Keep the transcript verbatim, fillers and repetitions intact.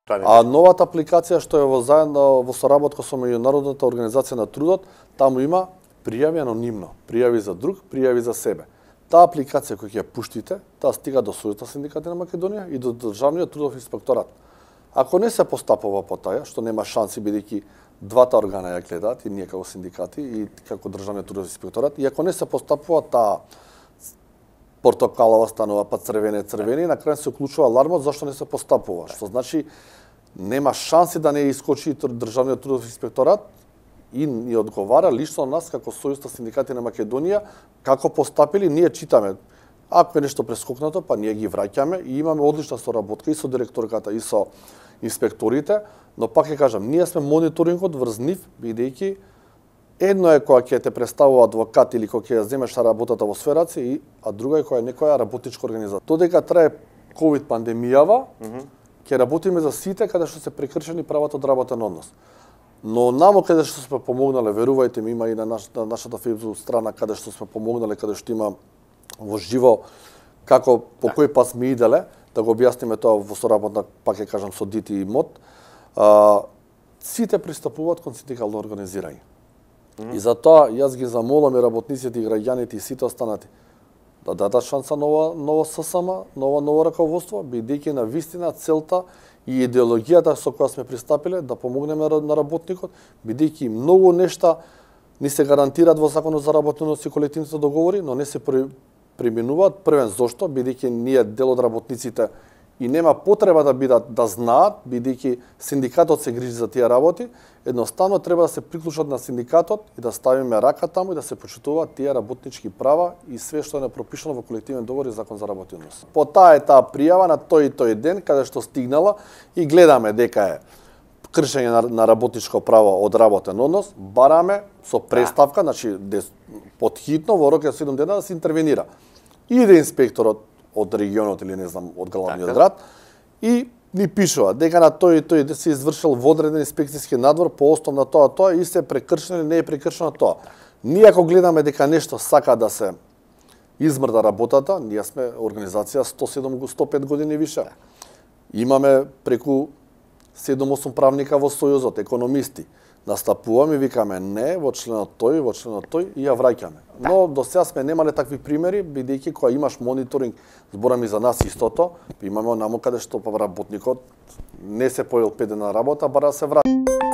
А новата апликација што е во заедно во соработка со Меѓународната организација на трудот, таму има пријави анонимно, пријави за друг, пријави за себе. Таа апликација која ќе ја пуштите, таа стига до Сојузот на синдикати на Македонија и до Државниот трудов инспекторат. Ако не се постапува по таја, што нема шанси бидејќи двата органа ја гледаат, и ние како синдикати и како Државниот трудов инспекторат, и ако не се постапува, таа портокалова станува па црвене црвени, и на крај се уклучува алармот зашто не се постапува, што значи нема шанси да не искочи Државниот трудов инспекторат и ни одговара лично на нас како Сојуз на синдикати на Македонија како постапили, ние читаме. Ако е нешто прескокнато, па ние ги враќаме и имаме одлична соработка и со директорката и со инспекторите, но пак ќе кажам, ние сме мониторингот врз нив, бидејќи едно е кога ќе те представува адвокат или кога ќе ја земеш работата во сферација, и а друга е кога е некоја работничка организација. Додека трае ковид пандемијава, mm -hmm. ќе работиме за сите каде што се прекршени правата од работен однос. Но намо каде што сме помогнале, верувајте ми, има и на, наш, на нашата фейсбук страна каде што сме помогнале, каде што има во живо како по кој пат сме иделе, да го објасниме тоа во соработна, пак ќе кажам, со ДИТИ и МОД, а, сите пристапуваат кон синдикално организирање. Mm -hmm. И затоа јас ги замолам и работниците и граѓаните и сите останати да дадат шанса нова ново ССМ, нова ново раководство, бидејќи на вистина целта и идеологијата со која сме пристапиле да помогнеме на работникот, бидејќи многу нешта ни се гарантираат во Законот за работен однос и колективните договори, но не се применуваат. Првен зошто, бидејќи ние дел од работниците и нема потреба да бидат да знаат, бидејќи синдикатот се грижи за тие работи, едноставно треба да се приклучат на синдикатот и да ставиме рака таму и да се почитуваат тие работнички права и све што е пропишано во колективен договор и Закон за работен однос. По таа е таа пријава на тој и тој ден каде што стигнала и гледаме дека е кршење на, на работничко право од работен однос, бараме со преставка, значи подхитно во рок од седум дена да се интервенира. Иде инспекторот од регионот или не знам од главниот град и ни пишува дека на тој и тој да се извршил водреден инспекцијски надвор по основ на тоа тоа и се прекршено или не е прекршено тоа. Ние ако гледаме дека нешто сака да се измрда работата, ние сме организација сто седум сто пет години више. Имаме преку седум-осум правника во Сојузот, економисти. Настапуваме и викаме не во членот тој, во членот тој и ја враќаме. Но до сега сме немале такви примери, бидејќи кога имаш мониторинг, зборам и за нас истото, имаме онамо каде што работникот не се појел пет дена работа, бара да се врати.